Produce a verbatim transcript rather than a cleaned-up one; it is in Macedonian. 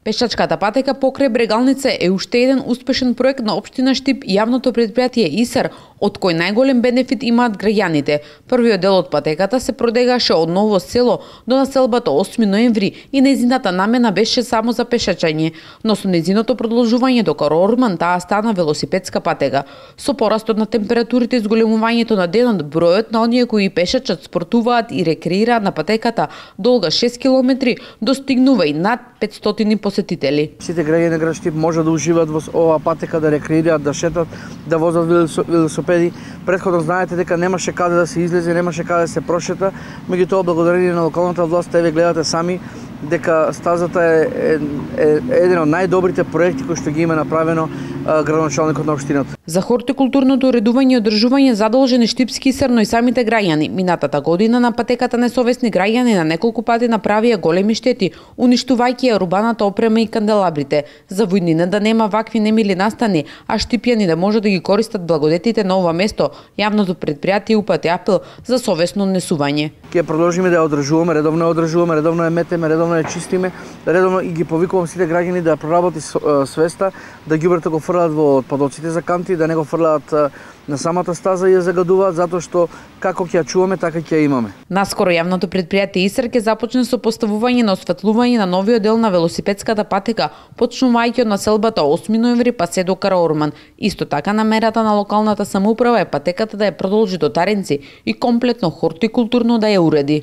Пешачката патека покрај Брегалница е уште еден успешен проект на општина Штип и јавното предпријатие ИСАР, од кој најголем бенефит имаат граѓаните. Првиот дел од патеката се продегаше од Ново село до населбата осми ноември и нејзината намена беше само за пешачење, но со нејзиното продолжување до Караорман таа стана велосипедска патека. Со порастот на температурите и зголемувањето на денот, бројот на оние кои пешачат, спортуваат и рекреираат на патеката долга шест километри достигнува и над петстотини посетители. Сите граѓани на град Штип може да уживаат во оваа патека, да рекреираат, да шетат, да возат велосипеди. Претходно знаете дека немаше каде да се излезе, немаше каде да се прошета, меѓутоа благодарение на локалната власт, еве гледате сами дека стазата е, е, е еден од најдобрите проекти кои што ги има направено а, градоначалникот на општината. За хортикултурното уредување и одржување задолжен е Штипски ИСАР, но и самите граѓани. Минатата година на патеката несовесни граѓани на неколку пати направија големи штети, уништувајќи ја урбаната опрема и канделабрите. За војнина да нема вакви немили настани, а штипјани да може да ги користат благодетите на ова место, јавното предпријатие упати апел за совесно однесување. Ќе продолжиме да ја одржуваме, редовно ја одржуваме, редовно ја метеме, редовно ја чистиме, редовно и ги повикувам сите граѓани да проработи свеста, да ѓубрето го фрлаат во отпадоците за канти, да не го фрлаат на самата стаза и ја загадуваат, затоа што како ќе ја чуваме, така ќе ја имаме. Наскоро јавното предпријатие ИСАР ќе започне со поставување на осветлување на новиот дел на велосипедската патека, почнувајќи од населбата осми ноември па се до Караорман. Исто така намерата на локалната самоуправа е патеката да ја продолжи до Таренци и комплетно хортикултурно да ја уреди.